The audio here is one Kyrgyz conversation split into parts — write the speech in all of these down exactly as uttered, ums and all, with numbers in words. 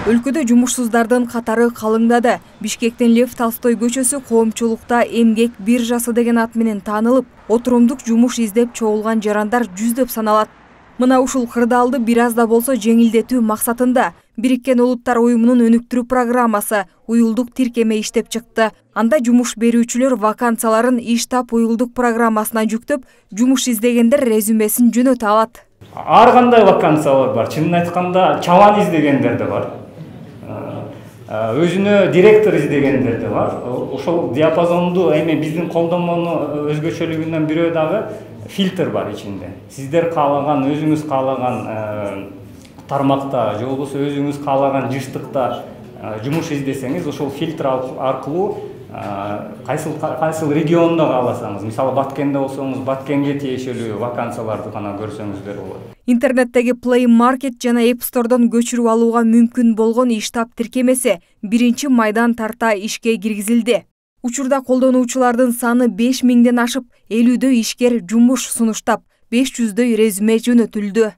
Өлкөдө жумушсуздардын катары калыңдады. Бишкектин Лев Толстой көчөсү коомчулукта эмгек биржасы деген ат менен таанылып, отурумдук жумуш издеп чогулган жарандар жүздөп саналат. Мына ушул кырдаалды бир аз да болсо жеңилдетүү максатында Бириккен Улуттар уюмунун өнүктүрүү программасы уюлдук тиркеме иштеп чыкты. Анда жумуш берүүчүлөр вакансияларын иштап уюлдук программасына жүктөп, жумуш издегендер резюмесин жөнөтө алат. Ар кандай вакансиялар бар. Чынын айтканда, чабан издегендер да бар. Өзүнө директор издегендер да бар. Ошол диапазонду эми биздин колдонмонун өзгөчөлүгүнөн бирөө дагы фильтр бар ичинде. Сиздер каалаган, өзүңүз каалаган тармакта, же болбосо өзүңүз каалаган жыштыкта жумуш издесеңиз, ошол фильтр аркылуу кайсыл кайсыл региондо кааласаңыз, мисалы Баткенде болсоңуз, Баткенге тиешелүү вакансияларды гана көрсөңүздөр болот. Интернеттеги Play Market жана App Store'дон көчүрүп алууга мүмкүн болгон иштап тиркемеси биринчи майдан тарта ишке киргизилди. Учурда колдонуучулардын саны беш миңден ашып, элүүдө ишкер жумуш сунуштап, беш жүздөй резюме жөнөтүлдү.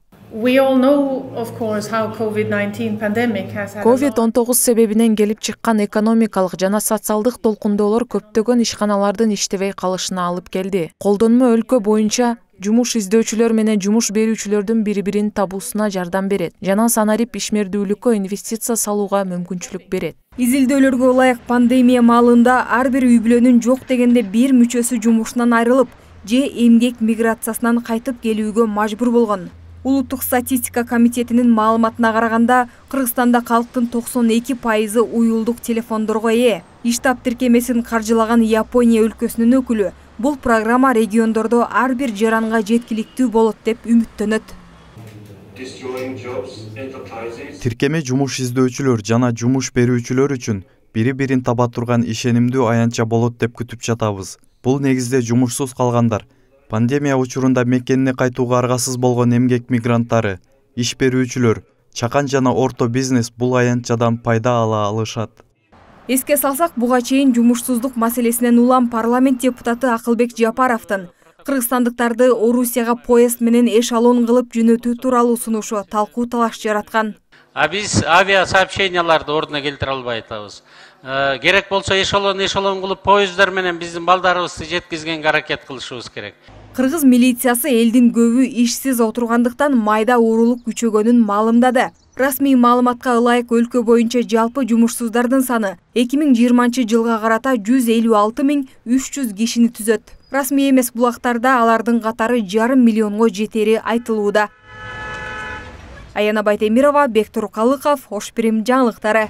ковид он тогуз себебинен келип чыккан экономикалык жана социалдык толкундоолор көптөгөн ишканалардын иштебей калышына алып келди. Колдонмо өлкө боюнча жумуш издөөчүлөр менен жумуш берүүчүлөрдүн бири-бирин табуусуна жардам берет жана санарип ишмердүүлүккө инвестиция салууга мүмкүнчүлүк берет. Изилдөөлөргө ылайык пандемия маалында ар бир үй бүлөнүн жок дегенде бир мүчөсү жумушунан айрылып, же эмгек миграциясынан кайтып келүүгө мажбур болгон. Улуттук статистика комитетинин маалыматына караганда, Кыргызстанда калктын токсон эки пайызы уюлдук телефондорго ээ. Иштап тиркемесин каржылаган Япония өлкөсүнүн өкүлү бул программа региондордо ар бир жаранга жеткиликтүү болот деп үмүттөнөт. Тиркеме жумуш издөөчүлөр жана жумуш берүүчүлөр үчүн бири-бирин таба турган ишенимдүү аянтча болот деп күтүп жатабыз. Бул негизде жумушсуз калгандар, пандемия учурунда мекенине кайтууга аргасыз болгон эмгек мигранттары, иш берүүчүлөр, чакан жана орто бизнес бул аянтчадан пайда ала алышат. Эске салсак, буга чейин жумушсуздук маселесинен улам парламент депутаты Акылбек Жапаровдун кыргызстандыктарды Орусияга поезд менен эшелон кылып жөнөтүү тууралуу сунушу талкуу талаш жараткан. А биз авиа сообщенияларды ордуна келтире албай атабыз. Керек болсо эшелон эшелон кылып поездар менен биздин балдарыбызды жеткизгенге аракет кылышыбыз керек. Кыргыз милициясы элдин көбү ишсиз отургандыктан майда уурулук күчөгөнүн маалымдады. Расмий маалыматка ылайык өлкө боюнча жалпы жумушсуздардын саны эки миң жыйырманчы жылга карата жүз элүү алты миң үч жүз кишини түзөт. Расмий эмес булактарда алардын катары жарым миллионго жетери айтылууда. Аяна Байтемирова, Бектур Калыков, Ош Пирим жаңылыктары.